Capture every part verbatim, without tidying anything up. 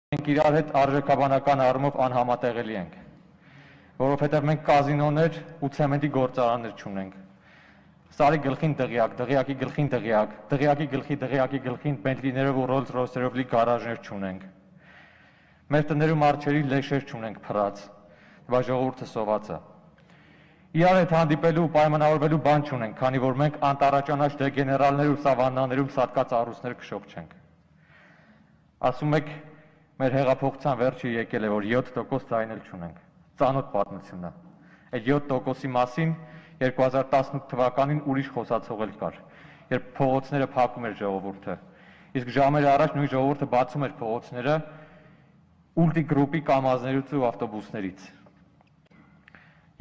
մենք իրար հետ արժեքաբանական առումով անհամատեղելի ենք, որովհետև մենք կազինոներ ու ցեմենտի գործարաններ չունենք։ Սարի գլխին դղյակ, դղյակի գլխին դղյակ, դղյակի գլխի դղյակի գլխին Բենտլիներով ու Ռոլս Ռոյսերով լի գարաժներ չունենք։ Մեր տներում արջերի լեշեր չունենք փռած, բայց ժողովուրդը սոված է։ Իրար հետ հանդիպելու ու պայմանավորվելու բան չունենք, քանի որ մենք անտառաճանաչ դեգեներալներ ու սավաննաներում սատկած առուստներ քշող չենք։ Ասում եք, մեր հեղափոխության վերջը եկել է, որ յոթ տոկոս ձայնել չունենք։ Ծանոթ պատմություն է։ Այդ յոթ տոկոսի մասին երկու հազար տասնութ թվականին ուրիշ խոսացող էլ կար, երբ փողոցները փակում էր ժողովուրդը։ Իսկ ժամեր առաջ նույն ժողովուրդը բացում էր փողոցները ուլտի գրուպի կամազներից ու ավտոբուսներից։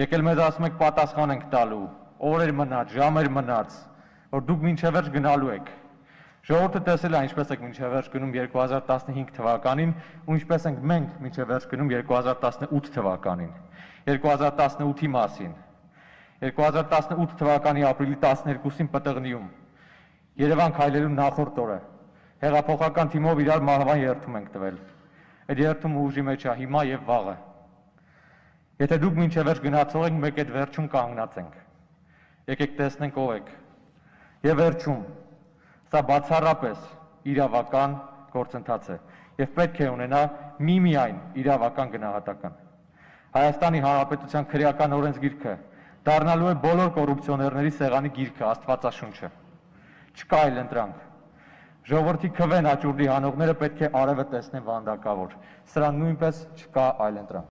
Եկել մեզ ասում եք պատասխան ենք տալու, օրեր մնաց, ժամեր մնաց, որ դուք մինչև վերջ գնալու եք։ Ժողովուրդը տեսել է ինչպես եք մինչև վերջ գնում երկու հազար տասնհինգ թվականին ու ինչպես ենք մենք մինչև վերջ գնում երկու հազար տասնութ թվականին։ երկու հազար տասնութի մասին։ երկու հազար տասնութ թվականի ապրիլի տասներկուսին Պտղնիում Երևան քայլելու նախորդ օրը հեղափոխական թիմով իրար մահվան երթում ենք տվել։ Այդ երթումը ուժի մեջ է հիմա եւ վաղը։ Եթե դուք մինչև վերջ գնացող եք, մեկ այդ վերջում կանգնած ենք։ Եկեք տեսնենք ով եք։ Եվ վերջում, սա բացառապես իրավական գործընթաց է եւ պետք է ունենա միմիայն իրավական գնահատական։ Հայաստանի Հանրապետության քրեական օրենսգիրքը դառնալու է բոլոր կոռուպցիոներների սեղանի գիրքը, Աստվածաշունչը։ Չկա այլ ընտրանք։ Ժողովրդի քվեն աճուրդի հանողները պետք է արևը տեսնեն վանդակավոր։ Սրան նույնպես չկա այլ ընտրանք։